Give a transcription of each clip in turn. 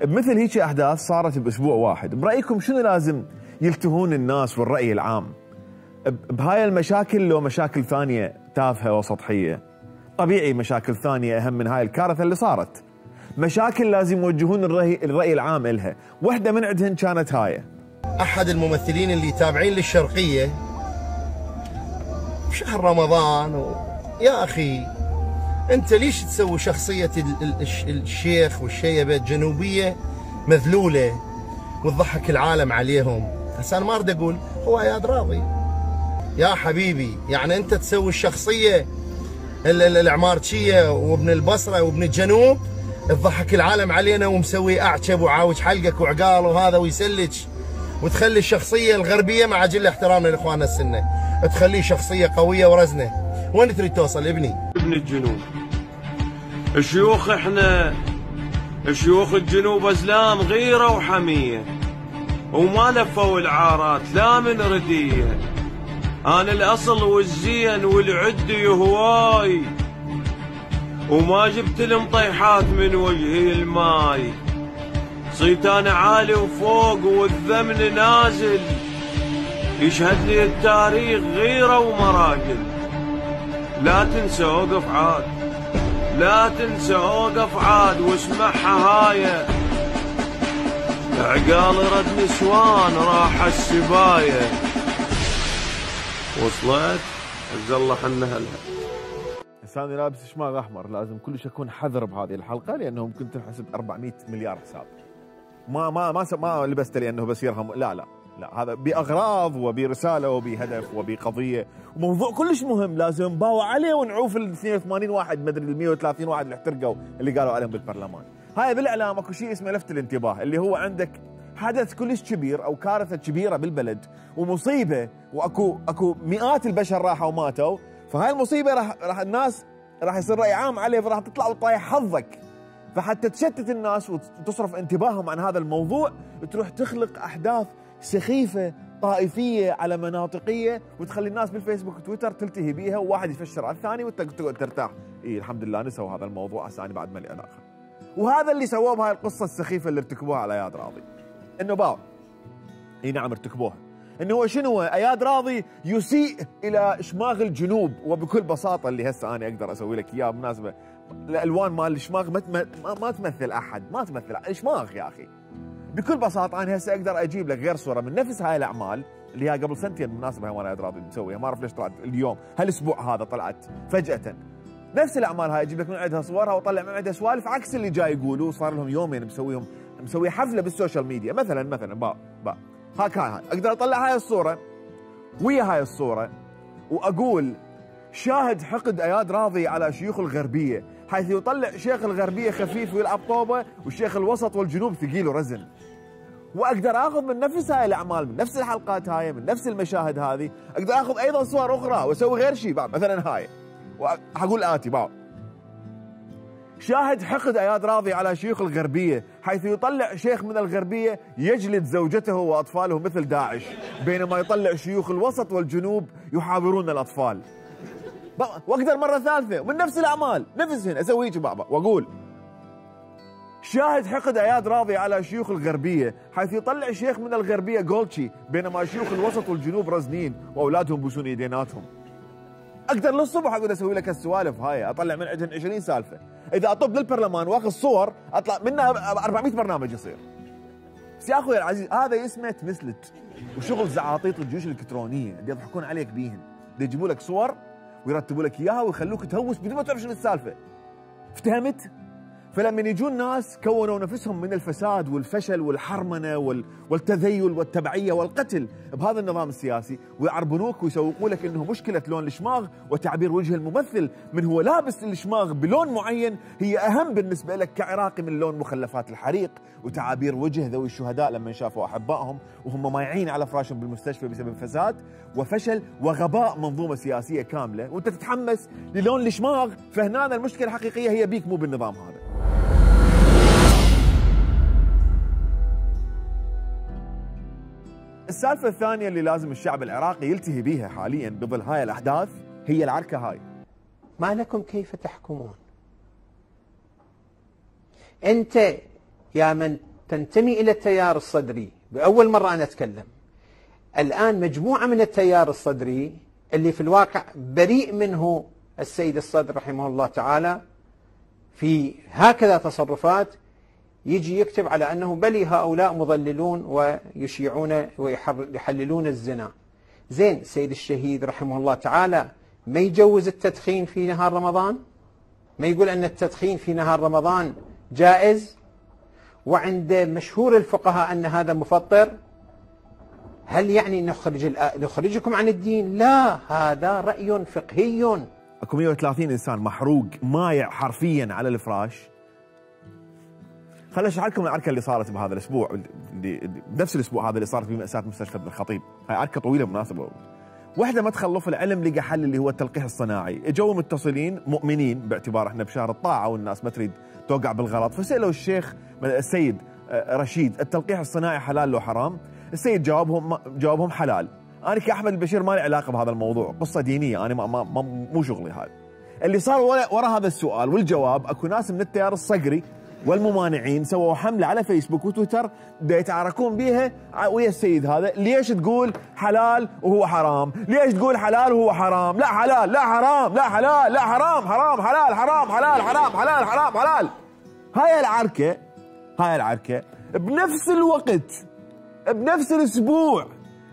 بمثل هيك احداث صارت باسبوع واحد، برايكم شنو لازم يلتهون الناس والراي العام بهاي المشاكل لو مشاكل ثانيه تافهه وسطحيه؟ طبيعي مشاكل ثانيه اهم من هاي الكارثه اللي صارت، مشاكل لازم يوجهون الراي العام الها، واحده من عندهن كانت هاي. احد الممثلين اللي تابعين للشرقيه بشهر رمضان يا اخي انت ليش تسوي شخصيه الشيخ والشيبه الجنوبيه مذلوله وتضحك العالم عليهم؟ هسه انا ما اريد اقول هو اياد راضي يا حبيبي، يعني انت تسوي الشخصيه العمارتشيه وابن البصره وابن الجنوب تضحك العالم علينا ومسوي اعشب وعاوج حلقك وعقال وهذا ويسلج، وتخلي الشخصيه الغربيه مع جل احترامنا لاخواننا السنه تخليه شخصيه قويه ورزنه. وين تريد توصل ابني؟ ابن الجنوب الشيوخ، احنا شيوخ الجنوب ازلام غيره وحميه وما لفوا العارات لا من رديه. انا الاصل والزين والعدي هواي وما جبت المطيحات من وجهي الماي، صيت انا عالي وفوق والذمن نازل، يشهد لي التاريخ غيره ومراجل. لا تنسى اوقف عاد، لا تنسى اوقف عاد واسمعها هايه، عقال رد نسوان راح السبايه. وصلت؟ عز الله حنا هلها. لساني لابس شماغ احمر، لازم كلش اكون حذر بهذه الحلقه لانه ممكن تنحسب 400 مليار حساب. ما لبست لانه بس يرهم، لا هذا باغراض وبرساله وبهدف وبقضيه وموضوع كلش مهم لازم نباوع عليه ونعوف ال 82 واحد مدري ال 130 واحد اللي احترقوا اللي قالوا عليهم بالبرلمان. هاي بالاعلام اكو شيء اسمه لفت الانتباه، اللي هو عندك حدث كلش كبير او كارثه كبيره بالبلد ومصيبه واكو مئات البشر راحوا وماتوا، فهاي المصيبه راح الناس راح يصير راي عام عليه، فراح تطلع وتطايح حظك، فحتى تشتت الناس وتصرف انتباههم عن هذا الموضوع تروح تخلق احداث سخيفه طائفيه على مناطقيه وتخلي الناس بالفيسبوك وتويتر تلتهي بيها وواحد يفشر على الثاني وانت تقعد ترتاح. الحمد لله نسوا هذا الموضوع، هسه انا بعد ما لي علاقه. وهذا اللي سووه بهاي القصه السخيفه اللي ارتكبوها على اياد راضي، انه باو نعم ارتكبوها، انه هو شنو؟ اياد راضي يسيء الى شماغ الجنوب، وبكل بساطه اللي هسه انا اقدر اسوي لك اياه بالمناسبه الالوان مال الشماغ ما تمثل احد، ما تمثل الشماغ يا اخي. بكل بساطه انا هسه اقدر اجيب لك غير صوره من نفس هاي الاعمال اللي هي قبل سنتين بالمناسبه، هاي اياد راضي مسويها، ما اعرف ليش طلعت اليوم هالاسبوع هذا طلعت فجاه. نفس الاعمال هاي اجيب لك من عندها صورها واطلع من عندها سوالف عكس اللي جاي يقولوا. صار لهم يومين مسوي حفله بالسوشيال ميديا مثلا هاي اقدر اطلع هاي الصوره ويا هاي الصوره واقول شاهد حقد اياد راضي على شيوخ الغربيه، حيث يطلع شيخ الغربيه خفيف ويلعب طوبه والشيخ الوسط والجنوب ثقيل ورزن. واقدر اخذ من نفس هاي الاعمال، من نفس الحلقات هاي، من نفس المشاهد هذه، اقدر اخذ ايضا صور اخرى واسوي غير شيء مثلا هاي، وحقول الاتي شاهد حقد اياد راضي على شيوخ الغربيه، حيث يطلع شيخ من الغربيه يجلد زوجته واطفاله مثل داعش، بينما يطلع شيوخ الوسط والجنوب يحاورون الاطفال. واقدر مره ثالثه من نفس الاعمال نفسهن اسوي هيك واقول شاهد حقد اياد راضي على شيوخ الغربيه، حيث يطلع شيخ من الغربيه جولتشي، بينما شيوخ الوسط والجنوب رزنين واولادهم بوسون يديناتهم. اقدر للصبح اقعد اسوي لك السوالف هاي، اطلع من عندهم 20 سالفه، اذا اطب للبرلمان واخذ صور اطلع منها 400 برنامج يصير. بس يا اخوي العزيز هذا اسمه تمثلت وشغل زعاطيط الجيوش الالكترونيه اللي يضحكون عليك بيهن، يجيبوا لك صور ويرتبوا لك اياها ويخلوك تهوس بدون ما تعرف شنو السالفه. افتهمت؟ فلما يجون ناس كونوا نفسهم من الفساد والفشل والحرمنه والتذيل والتبعيه والقتل بهذا النظام السياسي ويعربنوك ويسوقوا لك انه مشكله لون الشماغ وتعبير وجه الممثل من هو لابس الشماغ بلون معين هي اهم بالنسبه لك كعراقي من لون مخلفات الحريق وتعابير وجه ذوي الشهداء لما شافوا احبائهم وهم مايعين على فراشهم بالمستشفى بسبب فساد وفشل وغباء منظومه سياسيه كامله، وانت تتحمس للون الشماغ. فهنا المشكله الحقيقيه هي بيك مو بالنظام هذا. السالفة الثانية اللي لازم الشعب العراقي يلتهي بيها حاليا بظل هاي الأحداث هي العركة هاي. ما لكم كيف تحكمون؟ أنت يا من تنتمي إلى التيار الصدري، بأول مرة أنا أتكلم. الآن مجموعة من التيار الصدري اللي في الواقع بريء منه السيد الصدر رحمه الله تعالى في هكذا تصرفات، يجي يكتب على أنه بلي هؤلاء مضللون ويشيعون ويحللون الزنا. زين، السيد الشهيد رحمه الله تعالى ما يجوز التدخين في نهار رمضان؟ ما يقول أن التدخين في نهار رمضان جائز؟ وعند مشهور الفقهاء أن هذا مفطر؟ هل يعني نخرجكم عن الدين؟ لا، هذا رأي فقهي. اكو 130 انسان محروق مايع حرفيا على الفراش. خليني اشرح لكم العركه اللي صارت بهذا الاسبوع، بنفس الاسبوع هذا اللي صارت في مأساة مستشفى ابن الخطيب. هاي عركه طويله بالمناسبه. وحده ما تخلف العلم لقى حل اللي هو التلقيح الصناعي، اجوا متصلين مؤمنين باعتبار احنا بشهر الطاعه والناس ما تريد توقع بالغلط، فسالوا الشيخ السيد رشيد التلقيح الصناعي حلال لو حرام؟ السيد جاوبهم حلال. انا كاحمد البشير ما لي علاقه بهذا الموضوع، قصه دينيه، انا مو شغلي هذا. اللي صار ورا هذا السؤال والجواب، اكو ناس من التيار الصقري والممانعين سووا حمله على فيسبوك وتويتر يتعاركون بها ويا السيد هذا. ليش تقول حلال وهو حرام؟ ليش تقول حلال وهو حرام؟ لا حلال، لا حرام، لا حلال، لا حرام، حرام حلال، حرام حلال، حرام حلال، حرام حلال. هاي العركه بنفس الوقت، بنفس الاسبوع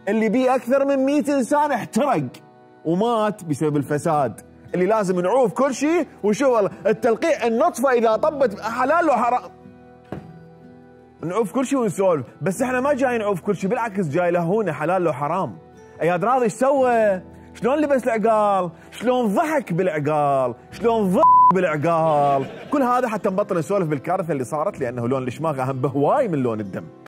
اللي بيه اكثر من 100 انسان احترق ومات بسبب الفساد، اللي لازم نعوف كل شيء ونشوف التلقيح النطفه اذا طبت حلال وحرام. نعوف كل شيء ونسولف، بس احنا ما جاي نعوف كل شيء، بالعكس جاي لهونا حلال وحرام. اياد راضي ايش سوى؟ شلون لبس العقال؟ شلون ضحك بالعقال؟ شلون ضحك بالعقال؟ كل هذا حتى نبطل نسولف بالكارثه اللي صارت، لانه لون الشماغ اهم بهواي من لون الدم.